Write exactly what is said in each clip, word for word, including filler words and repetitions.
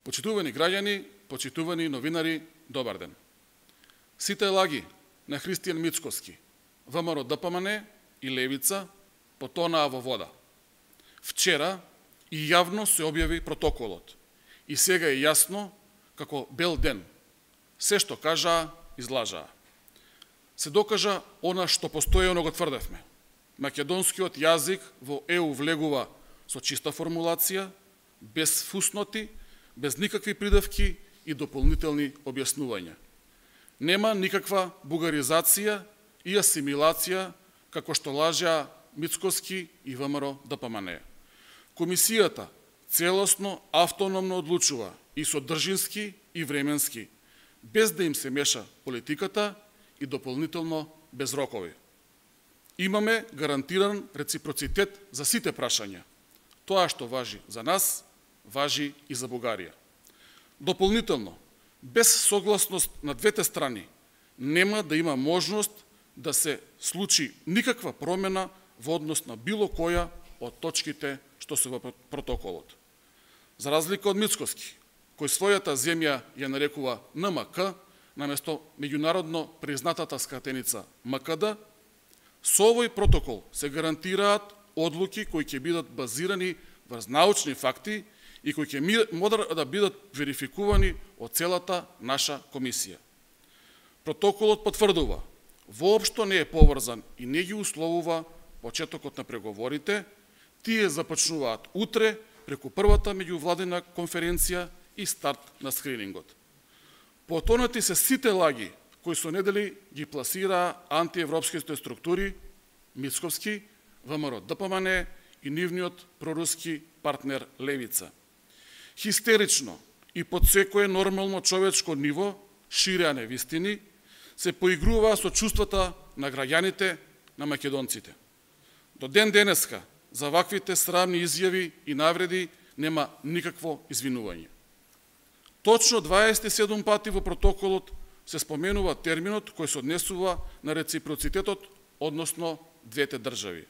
Почитувани граѓани, почитувани новинари, добар ден. Сите лаги на Христијан Мицкоски, ВМРО Д П М Н и Левица потонаа во вода. Вчера и јавно се објави протоколот и сега е јасно како бел ден. Се што кажаа, излажаа. Се докажа она што постојано го тврдевме. Македонскиот јазик во Е У влегува со чиста формулација, без фусноти, без никакви придавки и дополнителни објаснувања. Нема никаква бугаризација и асимилација, како што лажеа Мицкоски и ВМРО Д П М Н. Комисијата целосно, автономно одлучува и содржински и временски, без да им се меша политиката и дополнително без рокови. Имаме гарантиран реципроцитет за сите прашања. Тоа што важи за нас, важи и за Бугарија. Дополнително, без согласност на двете страни, нема да има можност да се случи никаква промена во однос на било која од точките што се во протоколот. За разлика од Мицкоски, кој својата земја ја нарекува Н М К, наместо меѓународно признатата скратеница М К Д, со овој протокол се гарантираат одлуки кои ќе бидат базирани врз научни факти и кои ќе мора да бидат верификувани од целата наша комисија. Протоколот потврдува, воопшто не е поврзан и не ги условува почетокот на преговорите, тие започнуваат утре преку првата меѓувладина конференција и старт на скринингот. Потонати се сите лаги кои со недели ги пласираа антиевропските структури, Мицкоски, ВМРО Д П М Н и нивниот проруски партнер Левица. Хистерично и под секое нормално човечко ниво ширеа невистини, се поигруваа со чувствата на граѓаните, на македонците. До ден денеска за ваквите срамни изјави и навреди нема никакво извинување. Точно дваесет и седум пати во протоколот се споменува терминот кој се однесува на реципроцитетот, односно двете држави.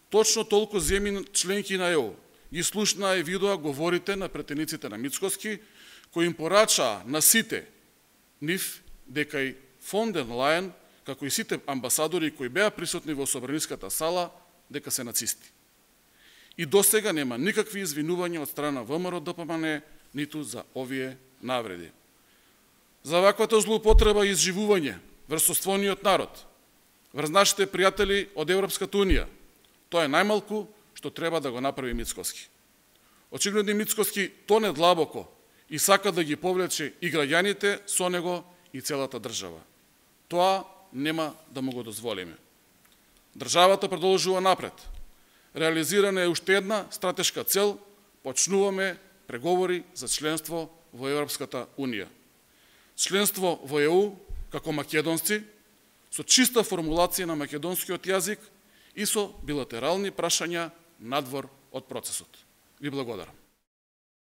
Точно толку земји членки на Е У ги слушнаа и видоа говорите на претениците на Мицкоски, кои им порачаа на сите нив дека и фон дер Лајен, како и сите амбасадори кои беа присутни во собраниската сала, дека се нацисти. И досега нема никакви извинувања од страна ВМРО Д П М Н, ниту за овие навреди. За ваквата злоупотреба и изживување врз соствониот народ, врз нашите пријатели од Европската Унија, тоа е најмалку што треба да го направи Мицкоски. Очигледно Мицкоски тоне длабоко и сака да ги повлече и граѓаните со него и целата држава. Тоа нема да му го дозволиме. Државата продолжува напред. Реализирана е уште една стратешка цел, почнуваме преговори за членство во Европската Унија. Членство во Е У како македонци, со чиста формулација на македонскиот јазик и со билатерални прашања надвор од процесот. Ви благодарам.